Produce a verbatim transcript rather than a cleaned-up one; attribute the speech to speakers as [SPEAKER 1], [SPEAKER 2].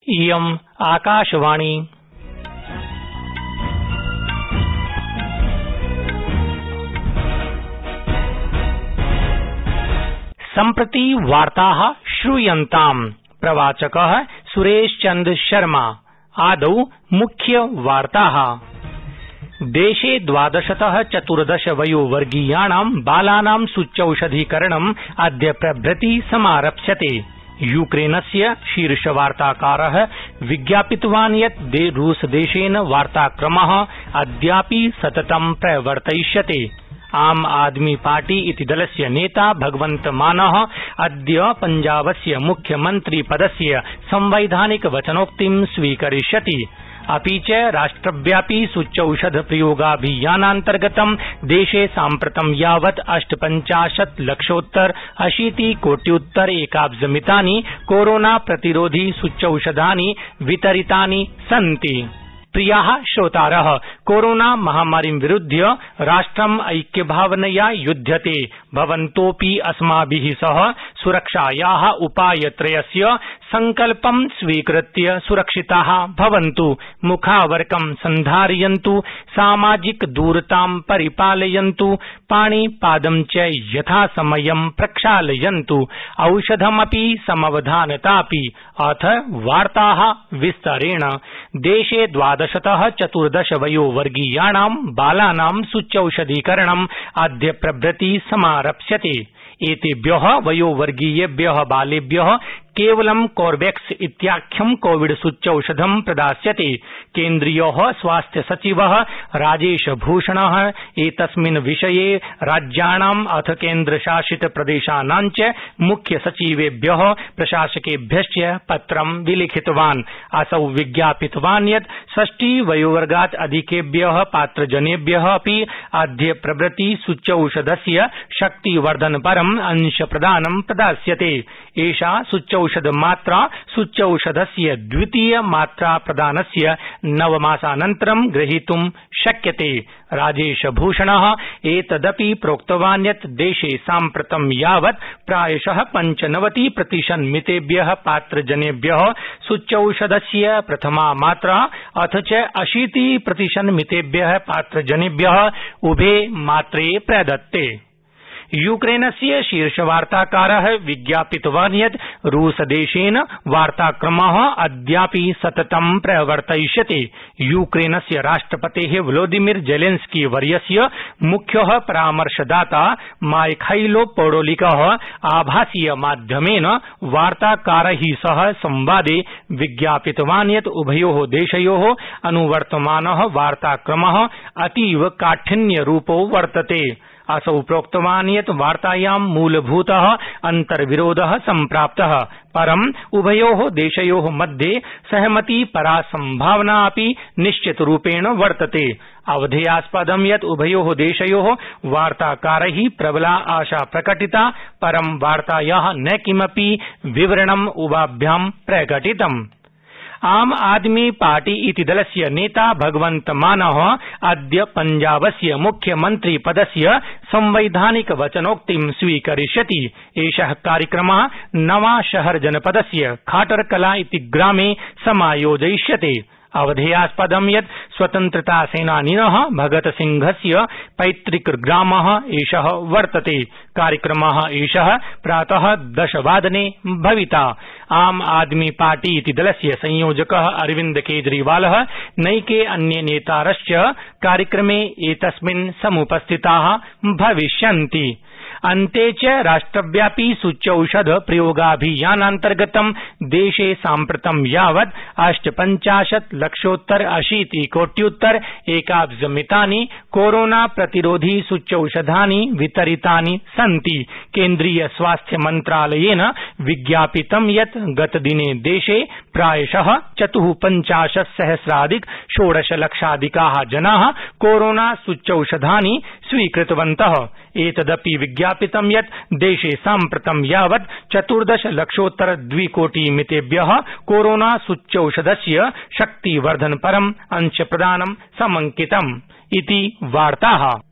[SPEAKER 1] इयम् आकाशवाणी। सम्प्रति वार्ताः श्रूयन्ताम्। प्रवाचकः सुरेश चन्द्र शर्मा। आदौ मुख्य वार्ताः। देशे द्वादशतः चतुर्दश वयोवर्गीयाणां बालानां सूच्यौषधीकरणम् अद्य प्रभृति समारप्स्यते। यूक्रेनस्य शीर्षवार्ताकारः विज्ञापितवान् यत् रूसदेशेन वार्ताक्रमः अद्यापि सततं प्रवर्तयिष्यते। आम आदमी पार्टी इति दलस्य नेता भगवन्त मानः अद्य पंजाबस्य मुख्यमन्त्रिपदस्य संवैधानिक वचनोक्तिं स्वीकरिष्यति। अपि च राष्ट्रव्यापी सूच्यौषध प्रयोगाभियानान्तर्गतं देशे साम्प्रतं यावत् अष्टपञ्चाशत् लक्षोत्तर अशीति कोट्युत्तर एकाब्जमितानि कोरोना प्रतिरोधी सूच्यौषधानि वितरितानि सन्ति। प्रियाः श्रोतारः, कोरोना महामारीं विरुध्य राष्ट्रम् ऐक्यभावनया युध्यते। भवन्तोऽपि अस्माभिः सह सुरक्षायाः उपायत्रयस्य संकल्पं स्वीकृत्य सुरक्षिताः भवन्तु। मुखावरकं सन्धारयन्तु, सामाजिक दूरतां परिपालयन्तु, पाणिपादं च यथासमयं प्रक्षालयन्तु, औषधमपि समवधानतापि। अथ वार्ताः विस्तरेण। देशे द्वादशतः चतुर्दश वयोवर्गीयाणां बालानां सूच्यौषधीकरणम् अद्य प्रभृति समारप्स्यते। एतेभ्यः वयोवर्गीयेभ्यः बालेभ्यः केवलं कोर्वेक्स इत्याख्यं कोविड सूच्यौषधं प्रदास्यते। केन्द्रीयः स्वास्थ्य सचिवः राजेश भूषणः एतस्मिन् विषये राज्याणाम् अथ केन्द्रशासित प्रदेशानां च मुख्य सचिवेभ्यः प्रशासकेभ्यश्च पत्रं विलिखितवान्। असौ विज्ञापितवान् यत् षष्टि वयोवर्गात् अधिकेभ्यः पात्रजनेभ्यः अपि अद्य प्रभृति सूच्यौषधस्य शक्तिवर्धनपरम् अंशप्रदानं प्रदास्यते। एषा सूच्यौषधमात्रा सूच्यौषधस्य द्वितीय मात्रा प्रदानस्य नवमासानन्तरं ग्रहीतुं शक्यते। राजेशभूषणः एतदपि प्रोक्तवान् यत् देशे साम्प्रतं यावत् प्रायशः पञ्चनवति प्रतिशन्मितेभ्यः पात्रजनेभ्यः सूच्यौषधस्य प्रथमा मात्रा अथ च अशीति प्रतिशन्मितेभ्यः पात्रजनेभ्यः उभे मात्रे प्रदत्ते। यूक्रेनस्य शीर्षवार्ताकारः विज्ञापितवान् यत् रूसदेशेन वार्ताक्रमः अद्यापि सततं प्रवर्तयिष्यते। यूक्रेनस्य राष्ट्रपतेः व्लादिमीर जेलेन्स्की वर्यस्य मुख्यः परामर्शदाता माइखाइलो पोडोलिकः आभासीय माध्यमेन वार्ताकारैः सह संवादे विज्ञापितवान् यत् उभयोः देशयोः अनुवर्तमानः वार्ताक्रमः अतीव काठिन्यरूपो वर्तते। असौ प्रोक्तवान् यत् वार्तायां मूलभूतः अन्तर्विरोधः सम्प्राप्तः, परम् उभयोः देशयोः मध्ये सहमतिपरा सम्भावना अपि निश्चितरूपेण वर्तते। अवधेयास्पदं यत् उभयोः देशयोः वार्ताकारैः प्रबला आशा प्रकटिता, परं वार्तायाः न किमपि विवरणम् उभाभ्यां प्रकटितम्। आम आदमी पार्टी इति दलस्य नेता भगवन्त मानः अद्य पंजाबस्य मुख्यमन्त्रिपदस्य संवैधानिक वचनोक्तिं स्वीकरिष्यति। एषः कार्यक्रमः नवांशहर जनपदस्य खाटरकला इति ग्रामे समायोजयिष्यते। अवधेयास्पदं यत् स्वतन्त्रतासेनानिनः भगतसिंहस्य पैतृकग्रामः एषः वर्तते। कार्यक्रमः एषः प्रातः दशवादने भविता। आम आदमी पार्टी इति दलस्य संयोजकः अरविन्द केजरीवालः नैके अन्ये नेतारश्च कार्यक्रमे एतस्मिन् समुपस्थिताः भविष्यन्ति। अन्ते च राष्ट्रव्यापी सूच्यौषध प्रयोगाभियानान्तर्गतं देशे साम्प्रतं यावत् अष्टपञ्चाशत् लक्षोत्तर अशीति कोट्युत्तर एकाब्जमितानि कोरोना प्रतिरोधी सूच्यौषधानि वितरितानि सन्ति। केन्द्रीय स्वास्थ्य मन्त्रालयेन विज्ञापितं यत् गतदिने देशे प्रायशः चतुःपञ्चाशत् सहस्राधिक षोडश लक्षाधिकाः जनाः कोरोना सूच्यौषधानि स्वीकृतवन्तः। एतदपि विज्ञापितं यत् देशे साम्प्रतं यावत् चतुर्दश लक्षोत्तर द्विकोटिमितेभ्यः कोरोना सूच्यौषधस्य शक्तिवर्धनपरम् अंशप्रदानं समंकितम् इति वार्ताः।